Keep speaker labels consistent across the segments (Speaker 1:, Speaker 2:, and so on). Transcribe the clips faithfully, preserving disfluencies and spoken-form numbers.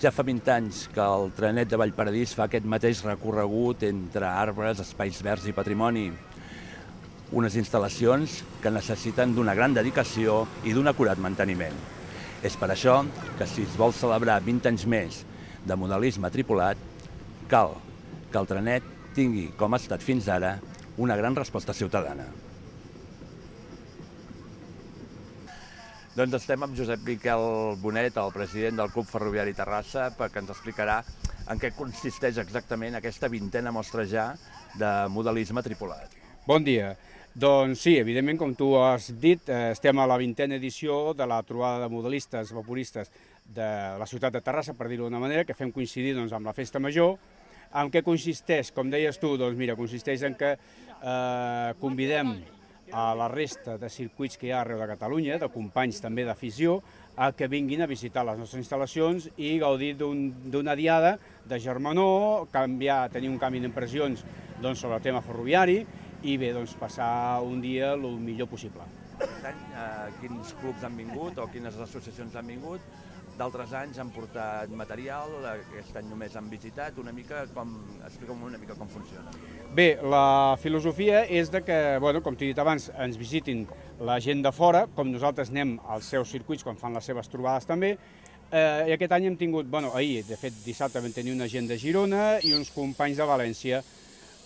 Speaker 1: Ja fa vint anys que el trenet de Vallparadís fa aquest mateix recorregut entre arbres, espais verds i patrimoni. Unes instal·lacions que necessiten d'una gran dedicació i d'un acurat manteniment. És per això que si es vol celebrar vint anys més de modelisme tripulat, cal que el trenet tingui, com ha estat fins ara, una gran resposta ciutadana. Doncs estem amb Josep Miquel Bonet, el president del Club Ferroviari Terrassa, perquè ens explicarà en què consisteix exactament aquesta vintena mostra ja de modelisme tripulat.
Speaker 2: Bon dia. Doncs sí, evidentment, com tu has dit, estem a la vintena edició de la trobada de modelistes vaporistes de la ciutat de Terrassa, per dir-ho d'una manera, que fem coincidir doncs, amb la Festa Major. En què consisteix? Com deies tu, doncs mira, consisteix en que eh, convidem a la resta de circuits que hi ha arreu de Catalunya, de companys també d'afició, a que vinguin a visitar les nostres instal·lacions i gaudir d'una diada de germanor, canviar, tenir un canvi d'impressions doncs, sobre el tema ferroviari i bé, doncs, passar un dia el millor possible.
Speaker 1: Aquest any, eh, quins clubs han vingut o quines associacions han vingut? D'altres anys han portat material, aquest any només han visitat, una mica com, explica'm una mica com funciona.
Speaker 2: Bé, la filosofia és de que, bueno, com t'he dit abans, ens visitin la gent de fora, com nosaltres anem als seus circuits quan fan les seves trobades també, eh, i aquest any hem tingut, bueno, ahir, de fet dissabte vam tenir una gent de Girona i uns companys de València.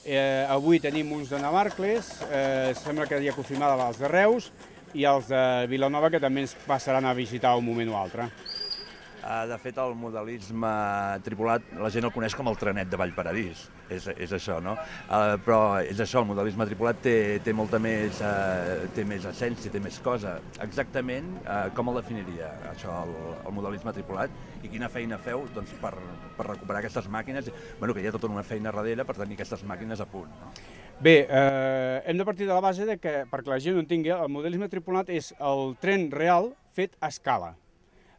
Speaker 2: Eh, avui tenim uns de Navarcles, eh, sembla que hi ha confirmada els de Reus i els de Vilanova que també ens passaran a visitar un moment o altre.
Speaker 1: De fet, el modelisme tripulat, la gent el coneix com el trenet de Vallparadís, és, és això, no? Uh, però és això, el modelisme tripulat té, té molta més, uh, té més essència, té més cosa. Exactament, uh, com el definiria, això, el, el modelisme tripulat? I quina feina feu doncs, per, per recuperar aquestes màquines? Bueno, que hi ha tota una feina darrere per tenir aquestes màquines a punt, no?
Speaker 2: Bé, eh, hem de partir de la base de que, perquè la gent ho entengui, el modelisme tripulat és el tren real fet a escala.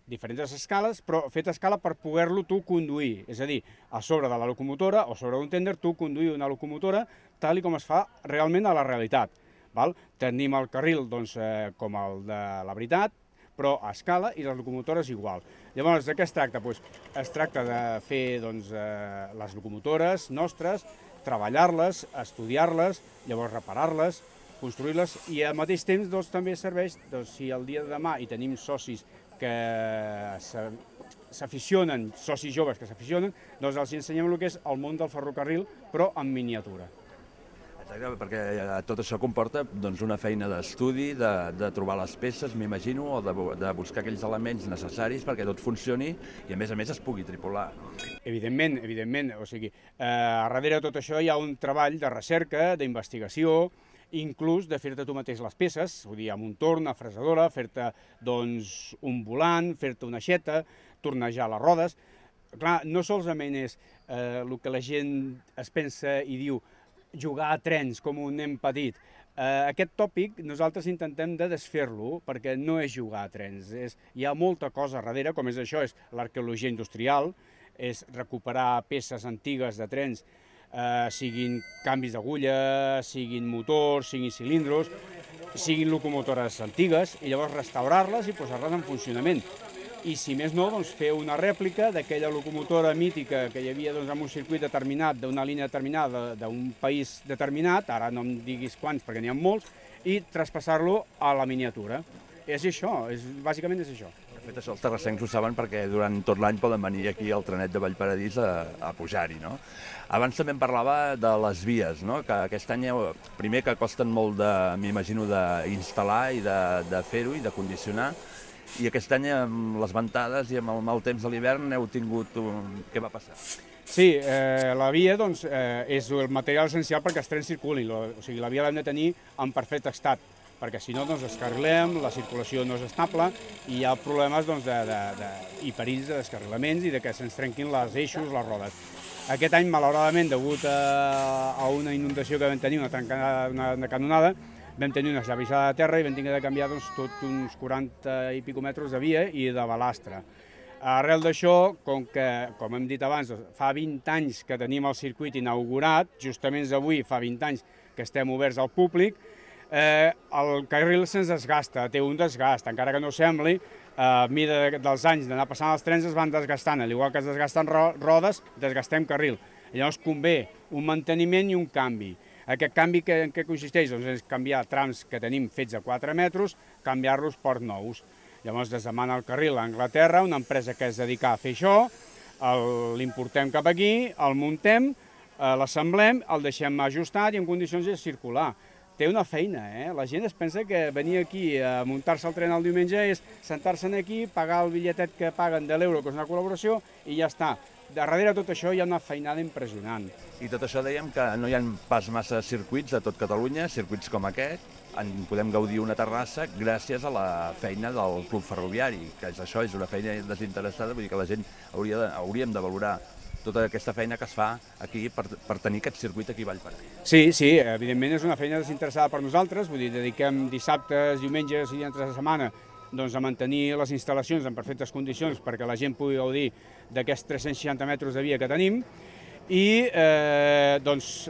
Speaker 2: Diferents escales, però fet a escala per poder-lo tu conduir, és a dir, a sobre de la locomotora o sobre d'un tènder tu conduir una locomotora tal com es fa realment a la realitat. Val? Tenim el carril doncs, eh, com el de la veritat, però a escala i les locomotores igual. Llavors, de què es tracta? Pues, es tracta de fer doncs, eh, les locomotores nostres, treballar-les, estudiar-les, llavors reparar-les, construir-les i al mateix temps doncs, també serveix, doncs, si el dia de demà hi tenim socis que s'aficionen, socis joves que s'aficionen, doncs els ensenyem el que és el món del ferrocarril, però en miniatura.
Speaker 1: Exacte, perquè tot això comporta doncs, una feina d'estudi, de, de trobar les peces, m'imagino, o de, de buscar aquells elements necessaris perquè tot funcioni i a més a més es pugui tripular.
Speaker 2: Evidentment, evidentment, o sigui, eh, a darrere de tot això hi ha un treball de recerca, d'investigació, inclús de fer-te tu mateix les peces, vull dir, amb un torn, una fresadora, fer-te doncs, un volant, fer-te una aixeta, tornejar les rodes. Clar, no solament és eh, el que la gent es pensa i diu jugar a trens com un nen petit. Eh, aquest tòpic nosaltres intentem de desfer-lo perquè no és jugar a trens. És, hi ha molta cosa darrere, com és això, és l'arqueologia industrial, és recuperar peces antigues de trens, Eh, siguin canvis d'agulla, siguin motors, siguin cilindros, siguin locomotores antigues, i llavors restaurar-les i posar-les en funcionament. I si més no, doncs, fer una rèplica d'aquella locomotora mítica que hi havia doncs, en un circuit determinat, d'una línia determinada, d'un país determinat, ara no em diguis quants perquè n'hi ha molts, i traspassar-lo a la miniatura. És això, és, bàsicament és això.
Speaker 1: De fet, això els terrassencs ho saben perquè durant tot l'any poden venir aquí al trenet de Vallparadís a, a pujar-hi, no? Abans també em parlava de les vies, no? Que aquest any, primer que costen molt, m'imagino, d'instal·lar i de, de fer-ho i de condicionar, i aquest any amb les ventades i amb el mal temps de l'hivern heu tingut... Un... Què va passar?
Speaker 2: Sí, eh, la via doncs, eh, és el material essencial perquè els trens circulin, o sigui, la via l'hem de tenir en perfecte estat, perquè si no doncs, descarrilem, la circulació no és estable i hi ha problemes doncs, de, de, de, i perills de descarrilaments i de que se'ns trenquin els eixos, les rodes. Aquest any, malauradament, degut a, a una inundació que vam tenir, una, trencada, una, una canonada, vam tenir una esllavissada de terra i vam haver de canviar doncs, tot uns quaranta i pico metres de via i de balastre. Arrel d'això, com que, com hem dit abans, fa vint anys que tenim el circuit inaugurat, justament avui fa vint anys que estem oberts al públic, Eh, el carril se'ns desgasta, té un desgast, encara que no sembli, a mida dels anys d'anar passant els trens es van desgastant, al igual que es desgasten rodes, desgastem carril. Llavors convé un manteniment i un canvi. Aquest canvi en què consisteix? Doncs és canviar trams que tenim fets a quatre metres, canviar-los per nous. Llavors es demana el carril a Anglaterra, una empresa que es dedica a fer això, l'importem cap aquí, el muntem, l'assemblem, el deixem ajustat i en condicions de circular. Té una feina, eh? La gent es pensa que venir aquí a muntar-se el tren el diumenge és sentar-se aquí, pagar el bitlletet que paguen de l'euro, que és una col·laboració, i ja està. Darrere tot això hi ha una feinada impressionant.
Speaker 1: I tot això dèiem que no hi ha pas massa circuits a tot Catalunya, circuits com aquest. En podem gaudir una Terrassa gràcies a la feina del Club Ferroviari, que és això, és una feina desinteressada, vull dir que la gent hauria de, hauríem de valorar tota aquesta feina que es fa aquí per, per tenir aquest circuit aquí a Vallparadís.
Speaker 2: Sí, sí, evidentment és una feina desinteressada per nosaltres, vull dir, dediquem dissabtes, diumenges i entre la setmana doncs, a mantenir les instal·lacions en perfectes condicions perquè la gent pugui gaudir d'aquests tres-cents seixanta metres de via que tenim. I eh, doncs,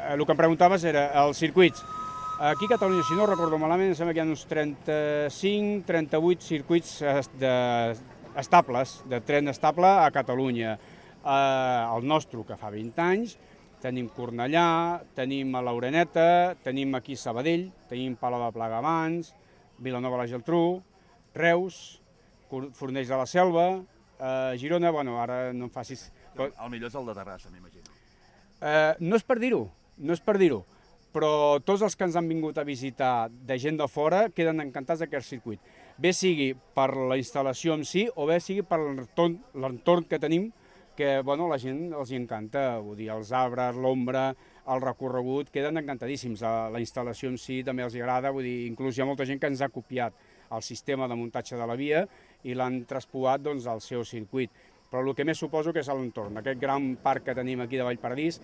Speaker 2: el que em preguntaves era els circuits. Aquí a Catalunya, si no recordo malament, em sembla que hi ha uns trenta-cinc trenta-vuit circuits de, estables, de tren estable a Catalunya. Eh, el nostre, que fa vint anys, tenim Cornellà, tenim a l'Oreneta, tenim aquí Sabadell, tenim Palau de Plegamans, Vilanova la Geltrú, Reus, Fornells de la Selva, eh, Girona, bueno, ara no em facis...
Speaker 1: El millor és el de Terrassa, m'imagino.
Speaker 2: Eh, no és per dir-ho, no és per dir-ho, però tots els que ens han vingut a visitar de gent de fora queden encantats d'aquest circuit. Bé sigui per la instal·lació en si o bé sigui per l'entorn que tenim, que bueno, la gent els hi encanta, vull dir, els arbres, l'ombra, el recorregut, queden encantadíssims. La instal·lació en si també els agrada, vull dir, inclús hi ha molta gent que ens ha copiat el sistema de muntatge de la via i l'han traspoat doncs, al seu circuit. Però el que més suposo que és l'entorn, aquest gran parc que tenim aquí de Vallparadís,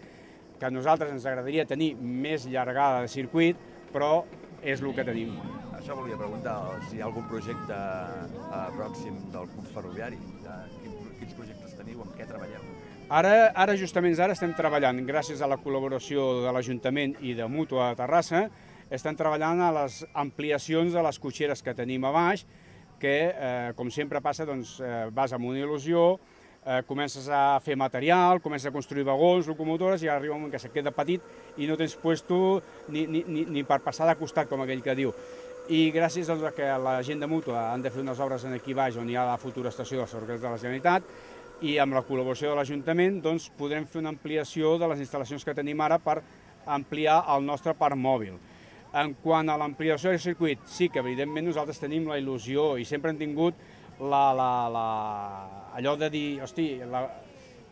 Speaker 2: que a nosaltres ens agradaria tenir més llargada de circuit, però és el que tenim.
Speaker 1: Això volia preguntar, si hi ha algun projecte eh, pròxim del Club Ferroviari, quin, quins projectes teniu, amb què treballeu?
Speaker 2: Ara, ara justament ara estem treballant, gràcies a la col·laboració de l'Ajuntament i de Mútua de Terrassa, estem treballant a les ampliacions de les cotxeres que tenim a baix, que, eh, com sempre passa, doncs, eh, vas amb una il·lusió, eh, comences a fer material, comences a construir vagons, locomotores, i arriba un moment que se queda petit i no tens puesto ni, ni, ni, ni per passar de costat, com aquell que diu. I gràcies doncs, a que la gent de Mútua han de fer unes obres aquí baix on hi ha la futura estació dels ferrocarrils de la Generalitat, i amb la col·laboració de l'Ajuntament doncs, podrem fer una ampliació de les instal·lacions que tenim ara per ampliar el nostre parc mòbil. En quant a l'ampliació del circuit, sí que evidentment nosaltres tenim la il·lusió i sempre hem tingut la, la, la, allò de dir, hosti, la,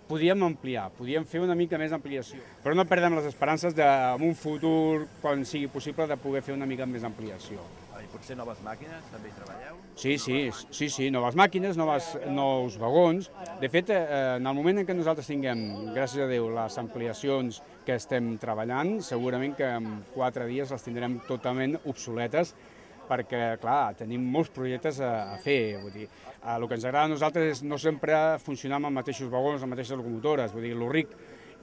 Speaker 2: podíem ampliar, podíem fer una mica més d'ampliació, però no perdem les esperances de, en un futur, quan sigui possible, de poder fer una mica més d'ampliació.
Speaker 1: I potser noves màquines, també hi treballeu?
Speaker 2: Sí, sí, sí, sí, noves màquines, noves, nous vagons. De fet, eh, en el moment en què nosaltres tinguem, gràcies a Déu, les ampliacions que estem treballant, segurament que en quatre dies les tindrem totalment obsoletes, perquè, clar, tenim molts projectes a, a fer. Vull dir, eh, el que ens agrada a nosaltres és no sempre funcionar amb els mateixos vagons, les mateixes locomotores. Vull dir, el ric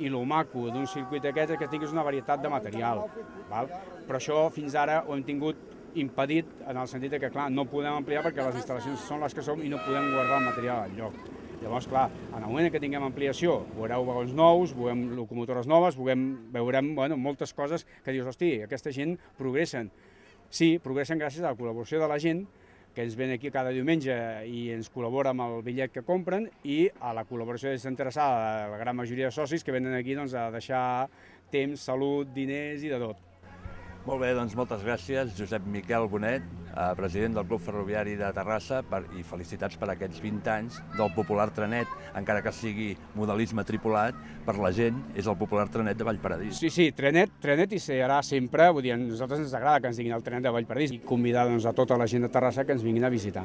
Speaker 2: i el maco d'un circuit aquest és que tinguis una varietat de material. Val? Però això fins ara ho hem tingut impedit en el sentit que, clar, no podem ampliar perquè les instal·lacions són les que som i no podem guardar el material al lloc. Llavors, clar, en el moment que tinguem ampliació, veureu vagons nous, veurem locomotores noves, veurem, veurem bueno, moltes coses que dius, hosti, aquesta gent progressen. Sí, progressen gràcies a la col·laboració de la gent que ens ven aquí cada diumenge i ens col·labora amb el bitllet que compren, i a la col·laboració desinteressada de la gran majoria de socis que venen aquí doncs, a deixar temps, salut, diners i de tot.
Speaker 1: Molt bé, doncs moltes gràcies, Josep Miquel Bonet, president del Club Ferroviari de Terrassa, per, i felicitats per aquests vint anys del popular trenet, encara que sigui modelisme tripulat, per la gent és el popular trenet de Vallparadís.
Speaker 2: Sí, sí, trenet, trenet i serà sempre, vull dir, a nosaltres ens agrada que ens diguin el trenet de Vallparadís i convidar doncs, a tota la gent de Terrassa que ens vinguin a visitar.